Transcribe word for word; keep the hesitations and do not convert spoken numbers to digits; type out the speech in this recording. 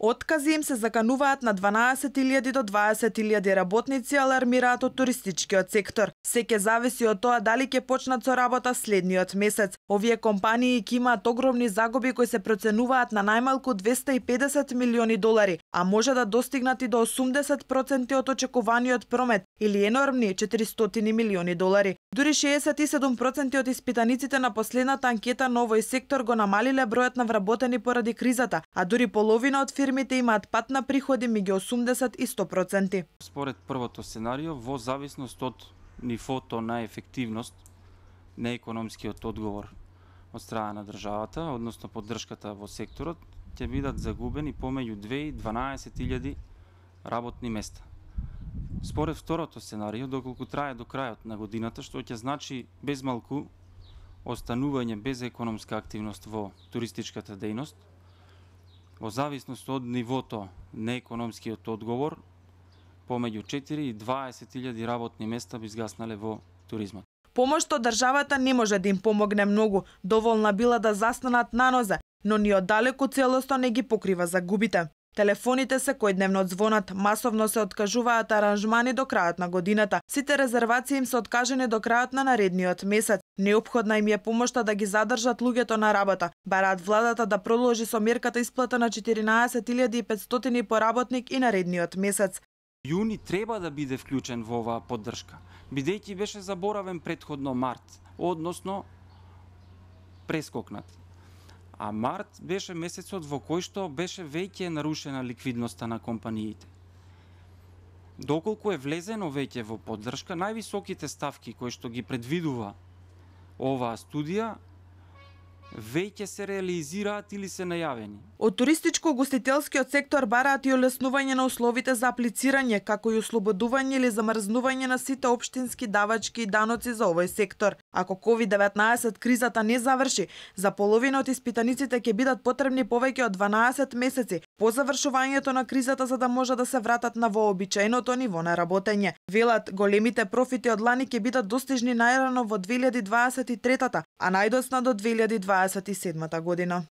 Откази им се закануваат на дванаесет илјади до дваесет илјади работници, алармираат од туристичкиот сектор. Се ќе зависи од тоа дали ќе почнат со работа следниот месец. Овие компании ќе имаат огромни загуби кои се проценуваат на најмалку двесте и педесет милиони долари, а може да достигнат и до осумдесет проценти од очекуваниот промет или енормни четиристотини милиони долари. Дури шеесет и седум проценти од испитаниците на последната анкета на овој сектор го намалиле бројот на вработени поради кризата, а дури половина од фирмите имаат пат на приходи меѓу осумдесет и сто проценти. Според првото сценарио, во зависност од нивото на ефективност на економскиот одговор од страна на државата, односно поддршката во секторот, ќе бидат загубени помеѓу две и дванаесет илјади работни места. Според второто сценарио, доколку трае до крајот на годината, што ќе значи без малку останување без економска активност во туристичката дејност, во зависност од нивото на економскиот одговор, помеѓу четири и дваесет илјади работни места би згаснале во туризмот. Помошта од државата не може да им помогне многу, доволна била да застанат на нозе, но ни оддалеку целосно не ги покрива загубите. Телефоните секојдневно звонат, масовно се откажуваат аранжмани до крајот на годината. Сите резервации им се откажени до крајот на наредниот месец. Неопходна им е помошта да ги задржат луѓето на работа. Бараат владата да продолжи со мерката исплата на четиринаесет илјади и петстотини по работник и наредниот месец. Јуни треба да биде вклучен во оваа поддршка, бидејќи беше заборавен претходно март, односно прескокнат. А март беше месецот во кој што беше веќе нарушена ликвидноста на компаниите. Доколку е влезено веќе во поддршка, највисоките ставки кои што ги предвидува оваа студија веќе се реализираат или се најавени. Од туристичко-гостителскиот сектор бараат и олеснување на условите за аплицирање, како и ослободување или замрзнување на сите општински давачки и даноци за овој сектор. Ако ковид деветнаесет кризата не заврши, за половина од испитаниците ќе бидат потребни повеќе од дванаесет месеци по завршувањето на кризата за да може да се вратат на вообичаеното ниво на работење. Велат, големите профити од лани ќе бидат достижни најрано во две илјади дваесет и трета, а најдосна до две илјади дваесет и седма година.